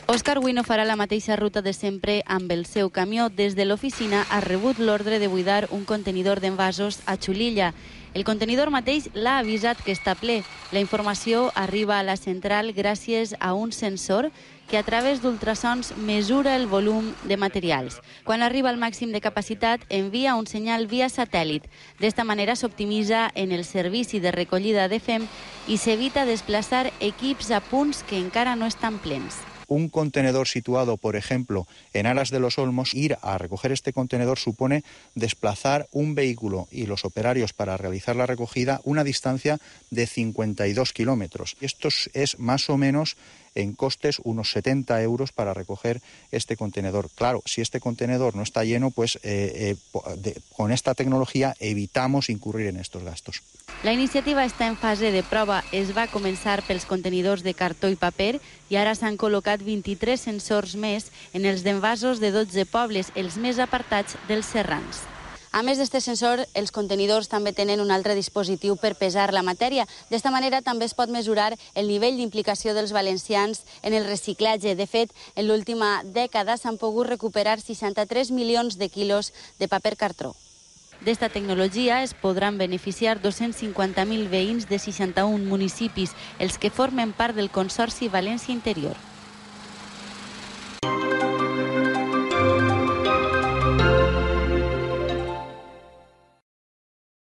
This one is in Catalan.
Òscar avui no farà la mateixa ruta de sempre amb el seu camió. Des de l'oficina ha rebut l'ordre de buidar un contenidor d'envasos a Xulilla. El contenidor mateix l'ha avisat que està ple. La informació arriba a la central gràcies a un sensor que a través d'ultrasons mesura el volum de materials. Quan arriba al màxim de capacitat, envia un senyal via satèl·lit. D'esta manera s'optimitza en el servici de recollida de FEM i s'evita desplaçar equips a punts que encara no estan plens. Un contenedor situado, por ejemplo, en Aras de los Olmos, ir a recoger este contenedor supone desplazar un vehículo y los operarios para realizar la recogida una distancia de 52 kilómetros. Esto es más o menos en costes unos 70 euros para recoger este contenedor. Claro, si este contenedor no está lleno, pues con esta tecnología evitamos incurrir en estos gastos. La iniciativa està en fase de prova. Es va començar pels contenidors de cartó i paper i ara s'han col·locat 23 sensors més en els d'envasos de 12 pobles, els més apartats dels serrans. A més d'aquest sensor, els contenidors també tenen un altre dispositiu per pesar la matèria. D'esta manera també es pot mesurar el nivell d'implicació dels valencians en el reciclatge. De fet, en l'última dècada s'han pogut recuperar 63 milions de quilos de paper cartró. D'esta tecnologia es podran beneficiar 250.000 veïns de 61 municipis, els que formen part del Consorci València Interior.